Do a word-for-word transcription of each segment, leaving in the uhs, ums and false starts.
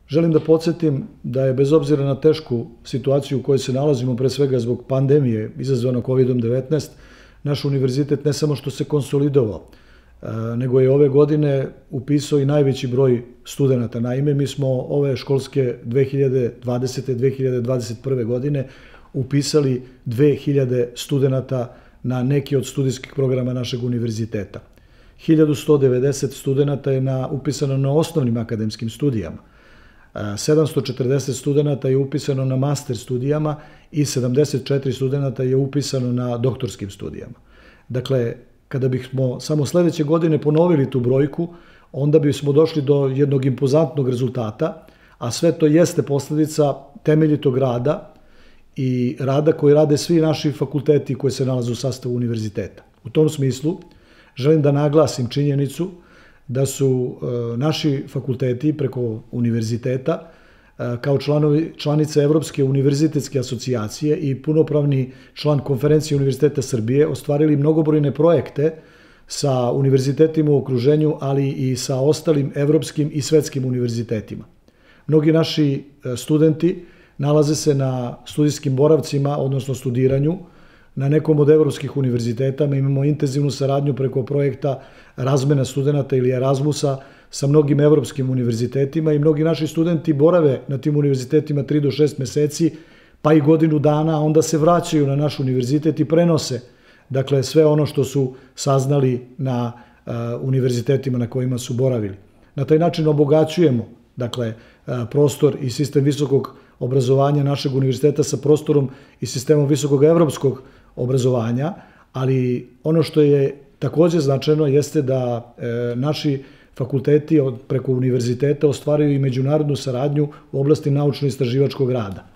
Želim da podsjetim da je bez obzira na tešku situaciju u kojoj se nalazimo, pre svega zbog pandemije izazvano kovidom devetnaest, naš univerzitet ne samo što se konsolidovao, nego je ove godine upisao i najveći broj studenta. Naime, mi smo ove školske dve hiljade dvadesete. dve hiljade dvadeset prve. godine upisali dve hiljade studenta na neki od studijskih programa našeg univerziteta. hiljadu sto devedeset studenta je na, upisano na osnovnim akademskim studijama. sedamsto četrdeset studenta je upisano na master studijama i sedamdeset četiri studenta je upisano na doktorskim studijama. Dakle, kada bismo samo sledeće godine ponovili tu brojku, onda bismo došli do jednog impozantnog rezultata, a sve to jeste posledica temeljitog rada i rada koji rade svi naši fakulteti koji se nalaze u sastavu univerziteta. U tom smislu želim da naglasim činjenicu da su naši fakulteti preko univerziteta kao članovi, članice Evropske univerzitetske asocijacije i punopravni član Konferencije Univerziteta Srbije ostvarili mnogobrojne projekte sa univerzitetima u okruženju, ali i sa ostalim evropskim i svetskim univerzitetima. Mnogi naši studenti nalaze se na studijskim boravcima, odnosno studiranju, na nekom od evropskih univerziteta. Mi imamo intenzivnu saradnju preko projekta razmena studenta ili Erasmusa sa mnogim evropskim univerzitetima i mnogi naši studenti borave na tim univerzitetima tri do šest meseci, pa i godinu dana, a onda se vraćaju na naš univerzitet i prenose dakle sve ono što su saznali na uh, univerzitetima na kojima su boravili. Na taj način obogaćujemo dakle uh, prostor i sistem visokog obrazovanja našeg univerziteta sa prostorom i sistemom visokog evropskog obrazovanja, ali ono što je takođe značajno jeste da e, naši fakulteti od, preko univerziteta ostvaruju i međunarodnu saradnju u oblasti naučno-istraživačkog rada.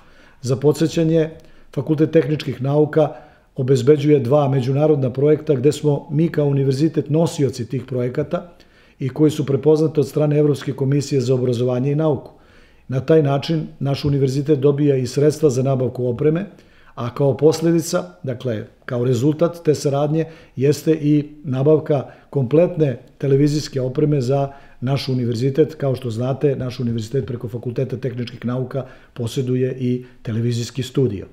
Za podsjećanje, Fakultet tehničkih nauka obezbeđuje dva međunarodna projekta gde smo mi kao univerzitet nosioci tih projekata i koji su prepoznati od strane Evropske komisije za obrazovanje i nauku. Na taj način naš univerzitet dobija i sredstva za nabavku opreme, a kao posledica, dakle, kao rezultat te saradnje, jeste i nabavka kompletne televizijske opreme za naš univerzitet. Kao što znate, naš univerzitet preko Fakulteta tehničkih nauka posjeduje i televizijski studio.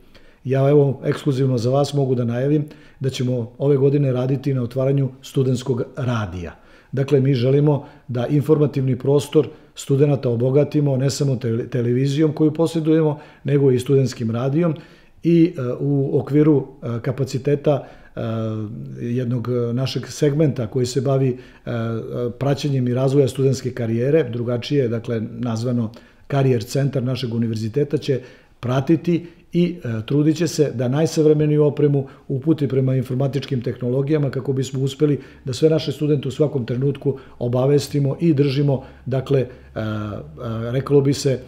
Ja evo, ekskluzivno za vas mogu da najavim da ćemo ove godine raditi na otvaranju studentskog radija. Dakle, mi želimo da informativni prostor studenta obogatimo ne samo televizijom koju posjedujemo, nego i studentskim radijom, i u okviru kapaciteta jednog našeg segmenta koji se bavi praćenjem i razvoja studentske karijere, drugačije, dakle, nazvano karijer centar našeg univerziteta, će pratiti i trudit će se da najsavremeniju opremu uputi prema informatičkim tehnologijama kako bismo uspeli da sve naše studente u svakom trenutku obavestimo i držimo, dakle, reklo bi se,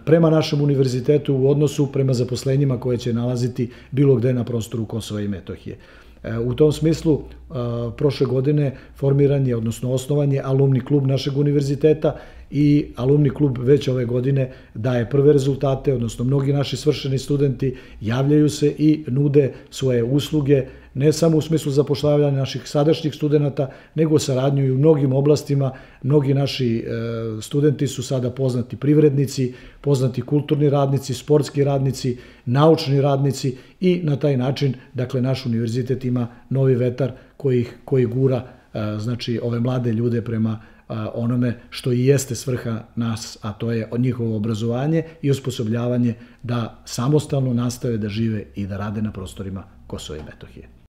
prema našem univerzitetu u odnosu prema zaposlenjima koje će nalaziti bilo gde na prostoru Kosova i Metohije. U tom smislu, prošle godine formiran je, odnosno osnovan je alumni klub našeg univerziteta i alumni klub već ove godine daje prve rezultate, odnosno mnogi naši svršeni studenti javljaju se i nude svoje usluge, ne samo u smislu zapošljavanja naših sadašnjih studenta, nego saradnju i u mnogim oblastima. Mnogi naši studenti su sada poznati privrednici, poznati kulturni radnici, sportski radnici, naučni radnici i na taj način, dakle, naš univerzitet ima novi vetar koji, koji gura, znači, ove mlade ljude prema onome što i jeste svrha nas, a to je njihovo obrazovanje i osposobljavanje da samostalno nastave da žive i da rade na prostorima Kosova i Metohije.